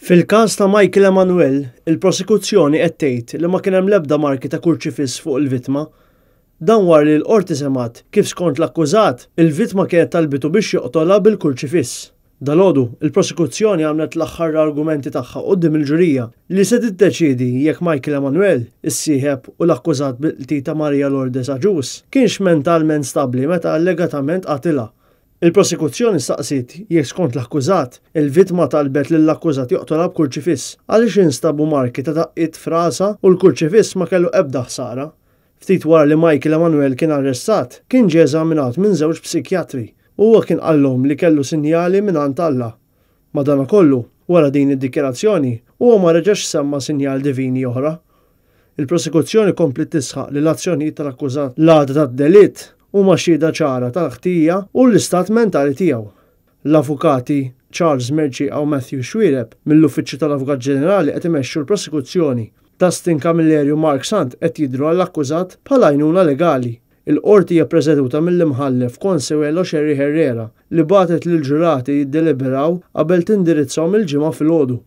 Fil-każ ta' Michael Emanuel, il-prosekuzzjoni qed tgħid li ma kien hemm l-ebda marki ta' kurċifiss fuq il-vittma. Dan wara li l-Qorti semgħet kif skont l-akkużat, il-vittma kienet talbitu biex joqtolha bil-kurċifiss. Dalgħodu, il-prosekuzzjoni għamlet l-aħħar argumenti tagħha quddiem il-ġurija li se tiddeċiedi jekk Michael Emanuel, is-sieħeb u l-akkużat bil-qtil ta' Maria Lourdes Agius, kienx mentalment stabbli meta allegatament qatilha. Il-prosekuzzjoni staqsiet jekk skont l-akkużat, il-vittma talbet lill-akkużat joqtolha b'kurċifiss għaliex instabu marki ta' daqqiet f'rasha u l-kurċifiss ma kellu ebda ħsara. Ftit wara li Michael Emanuel kien arrestat, kien ġie eżaminat minn żewġ psikjatri u huwa kien qallhom li kellu sinjali mingħand Alla. Madankollu, wara din id-dikjarazzjoni, huwa ma reġax semma sinjal divini oħra. Il-prosekuzzjoni kompliet tisħaq li l-azzjonijiet tal-akkużat l-għada tad-delitt huma xhieda ċara tal-ħtija u l-istat mentali tiegħu. L-avukati Charles Mercieca u Matthew Xuereb mill-Uffiċċju tal-Avukat Ġenerali qed imexxu l-prosekuzzjoni. Dustin Camilleri u Mark Sant qed jidhru għall-akkużat bħala għajnuna legali. Il-Qorti hija ppreseduta mill-Imħallef Consuelo Scerri Herrera li bagħtet lill-ġurati jiddeliberaw qabel tindirizzahom il-Ġimgħa filgħodu.